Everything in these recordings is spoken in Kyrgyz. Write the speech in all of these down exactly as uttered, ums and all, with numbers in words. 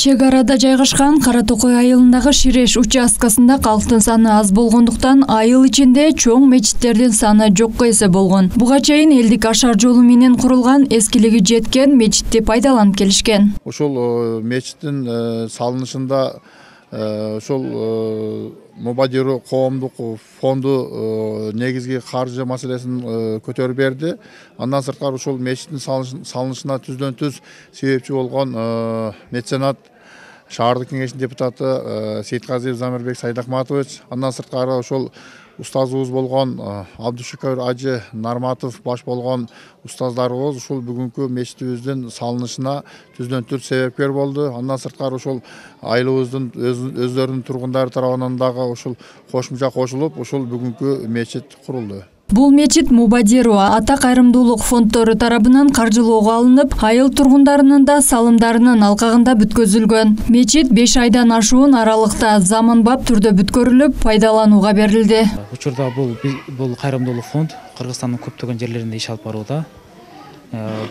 Чек арада жайгашкан Кара Токой айылындагы Ширеш участкасында калктын саны аз болгондуктан айыл ичинде чоң мечиттердин саны жокко эсе болгон. Буга чейин элдик ашар жолу менен курулган эскилиги жеткен мечитти пайдаланып келишкен. Ошол мечиттин салынышында ошол Мубадиру коомдук фонду негизги каржы маселесин көтөрүп берди. Андан сырткары ошол мечиттин салынышына түздөн түз себепчи болгон меценат шаардык кеңештин депутаты Сейитказиев Замирбек Сайдахматович, андан сырткары ошол устазыбыз болгон Абдушукур Ажы Нарматов баш болгон устаздарыбыз ушул бүгүнкү мечитибиздин салынышына түздөн түз себепкер болду. Андан сырткары ошол айылыбыздын өздөрүнүн тургундары тарабынан дагы ушул кошумча кошулуп, ушул бүгүнкү мечит курулду. Бул мечит Мубадиру ата кайрымдуулук фонддору тарабынан каржылоого алынып, айыл тургундарынын да салымдарынын алкагында бүткөзүлгөн. Мечит беш айдан ашуун аралыкта заманбап түрдө бүткөрүлүп, пайдаланууга берилди. Учурда бул бул кайрымдуулук фонд Кыргызстандын көптөгөн жерлеринде иш алып барууда.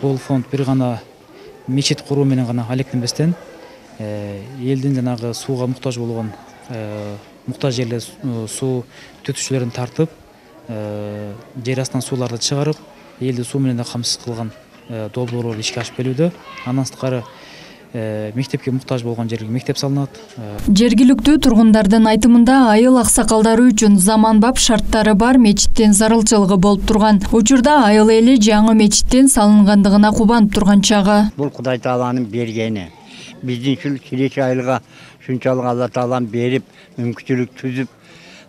Бул фонд бир гана мечит куруу менен гана алектенбестен, элдин жанагы сууга муктаж болгон муктаж жерлер суу түтүкчүлөрүн тартып, жер астынан сууларды чыгарып, элди суу менен да камсыз кылган долбоорлор ишке ашып келүүдө. Андан сырткары мектепке муктаж болгон жерге мектеп салынат. Жергиликтүү тургундардын айтымында айыл аксакалдары үчүн заманбап шарттары бар мечиттин зарылчылыгы болуп турган. Учурда айыл эли жаңы мечиттин салынгандыгына кубанып турган чагы. Бул Кудай Тааланын бергени. Биздин ушул Ширеш айылга шунчалык Алла Таалам берип, мүмкүнчүлүк түзүп,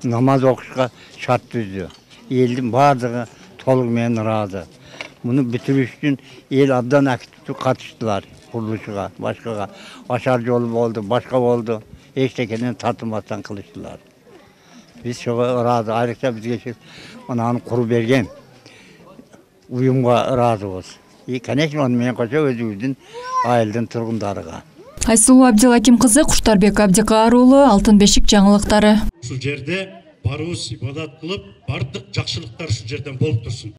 намаз окушка шарт түздү. Элдин бардыгы толугу менен ыраазы. Муну бүтүрүш үчүн эл абдан активдүү катыштылар. Курулушуга, башкага ашар жолу болду, башка болду. Эчтекеден тартылмастан кылыштылар. Биз ошого ыраазы, айрыкча бизге мынаны куруп берген уюмга ыраазыбыз. И, конечно, аны менен кошо өзүбүздүн айылдын тургундарыга. Айсулуу Абдилаким кызы, Куштарбек Абдикаар уулу, Алтын бешик жаңылыктары. Ушул жерде барыбыз ибадат кылып, бардык жакшылыктар ушул жерден болуп турсун.